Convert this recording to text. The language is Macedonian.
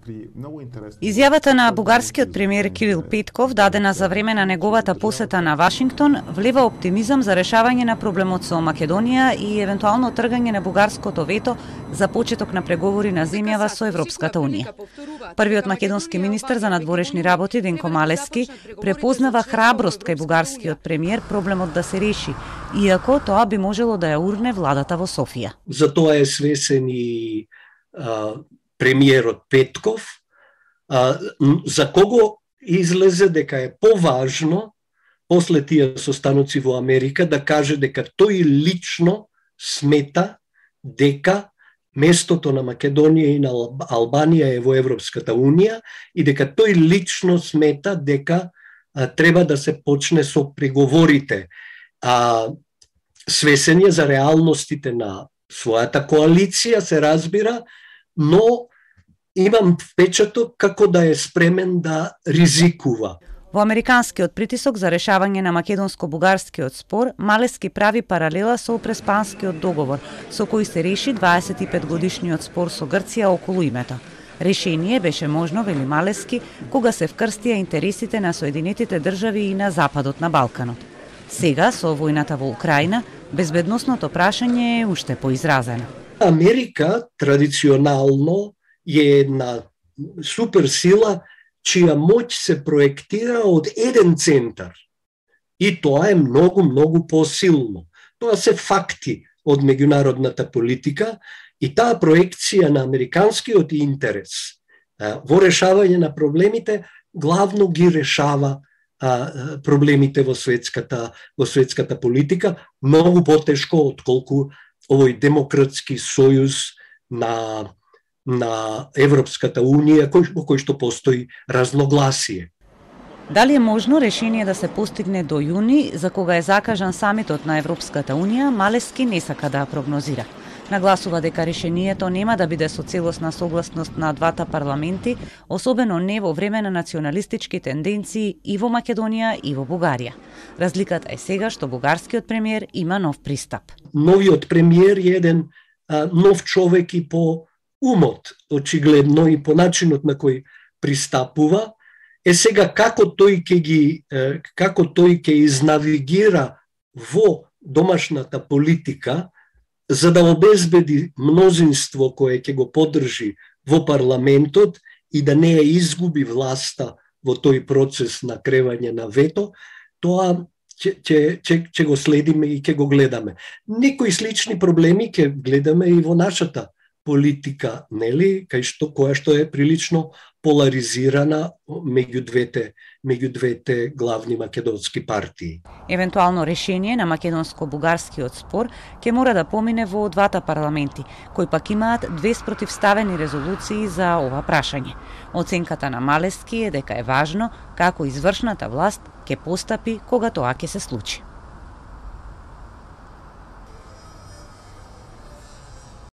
Изјавата на бугарскиот премиер Кирил Петков, дадена за време на неговата посета на Вашингтон, влева оптимизам за решавање на проблемот со Македонија и евентуално тргање на бугарското вето за почеток на преговори на земјава со Европската унија. Првиот македонски министер за надворешни работи Денко Малески препознава храброст кај бугарскиот премиер проблемот да се реши, иако тоа би можело да ја урне владата во Софија. За тоа е свесен и премиерот Петков, за кого излезе дека е поважно после тие состаноци во Америка да каже дека тој лично смета дека местото на Македонија и на Албанија е во Европската унија и дека тој лично смета дека треба да се почне со преговорите. Свесен е за реалностите на својата коалиција, се разбира, но имам впечаток како да е спремен да ризикува. Во американскиот притисок за решавање на македонско-бугарскиот спор, Малески прави паралела со Преспанскиот договор, со кој се реши 25-годишниот спор со Грција околу името. Решение беше можно, вели Малески, кога се вкрстија интересите на Соединетите држави и на западот на Балканот. Сега, со војната во Украина, безбедносното прашање е уште поизразено. Америка традиционално е една суперсила чија моќ се проектира од еден центар. И тоа е многу посилно. Тоа се факти од меѓународната политика и таа проекција на американскиот интерес во решавање на проблемите главно ги решава проблемите во светската политика многу потешко отколку овој демократски сојуз на Европската унија во кој што постои разногласие. Дали е можно решение да се постигне до јуни, за кога е закажан самитот на Европската унија, Малески не сака да прогнозира. Нагласува дека решението нема да биде со целосна согласност на двата парламенти, особено не во време на националистички тенденции и во Македонија и во Бугарија. Разликата е сега што бугарскиот премиер има нов пристап. Новиот премиер е еден нов човек и по умот, очигледно, и по начинот на кој пристапува. Сега како тој ќе изнавигира во домашната политика за да обезбеди мнозинство кое ќе го поддржи во парламентот и да не ја изгуби власта во тој процес на кревање на вето, тоа ќе го следиме и ќе го гледаме. Некои слични проблеми ќе гледаме и во нашата политика, нели, која што е прилично поларизирана меѓу двете главни македонски партии. Евентуално решение на македонско-бугарскиот спор ќе мора да помине во двата парламенти, кои пак имаат две спротивставени резолуции за ова прашање. Оценката на Малески е дека е важно како извршната власт ќе постапи кога тоа ќе се случи.